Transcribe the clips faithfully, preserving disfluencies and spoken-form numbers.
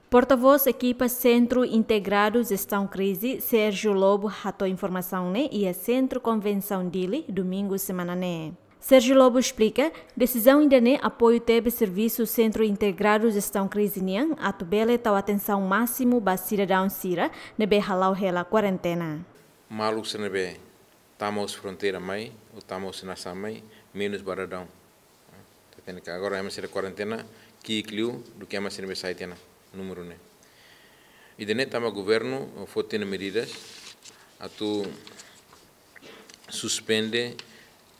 Porta-voz ekipa Sentru Integradu Jestaun Krize, Sérgio Lobo, hato'o informasaun ne'e iha Sentru Konvensaun Dili, Domingu semana ne'e. Sérgio Lobo esplika, desizaun ida-ne'e apoiu tebes servisu Sentru Integradu Jestaun Krize nian atu bele tau atensaun másimu ba sidadaun sira ne'ebé hala'o hela kuarentena. Maluk sira ne'ebé tama husi fronteira mai, ou tama husi nasaun mai, menus ba daudaun. Ita hatene katak agora ema sira kuarentena ki'ik liu duké ema sira ne'ebé sai tiha ona númeru ne'e. Ida-ne'e tanba governu foti ona medidas atu suspende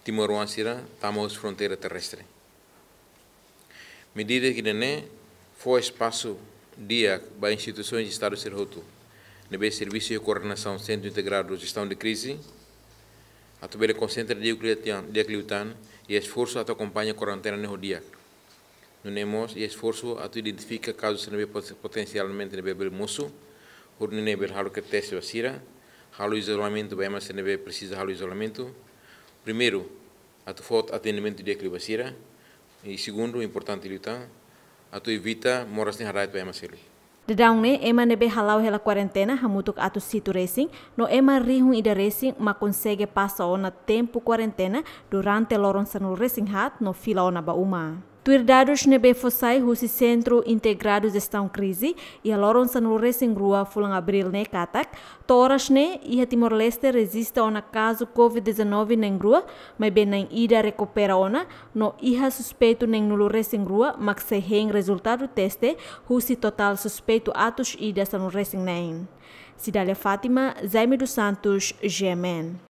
timoroan sira tama husi fronteira terrestre. Medida ida-ne'e fó espasu di'ak ba instituisoens Estadu sira hotu ne'ebé servisu iha koordenasaun Sentru Integradu Jestaun de Krize atu bele konsentra di'ak liután, di'ak liután iha esforsu atu akompaña kuarentena ne'e ho di'ak. Nune'e mós iha esforsu atu identifika kazu sira ne'ebé pot-, potensialmente ne'ebé bele mosu, hodi nune'e bele halo kedas teste ba sira, halo izolamentu ba ema sira ne'ebé presiza halo izolamentu. Primeiru, atu fó atendimentu di'ak liu ba sira. I segundu, importante liután, atu evita moras ne'e hada'et ba ema seluk. Daudaun ne'e, ema ne'ebé hala'o hela kuarentena hamutuk atus hitu resin, no ema rihun ida resin mak konsege pasa ona tempu kuarentena durante loron sanulu resin haat no fila ona ba uma. Tuir dadus ne'ebé fó sai husi Sentru Integradu Jestaun Krize, iha loron sanulu resin rua fulan Abríl ne'e katak, to'o oras ne'e iha Timor-Leste rejista ona kazu covid dezanove na'in rua, maibé na'in ida rekupera ona, no iha suspeitu na'in-nulu resin rua mak sei hein rezultadu teste husi totál suspeitu atus ida sanulu resin neen. Cidália Fátima, Jaime dos Santos, G M N.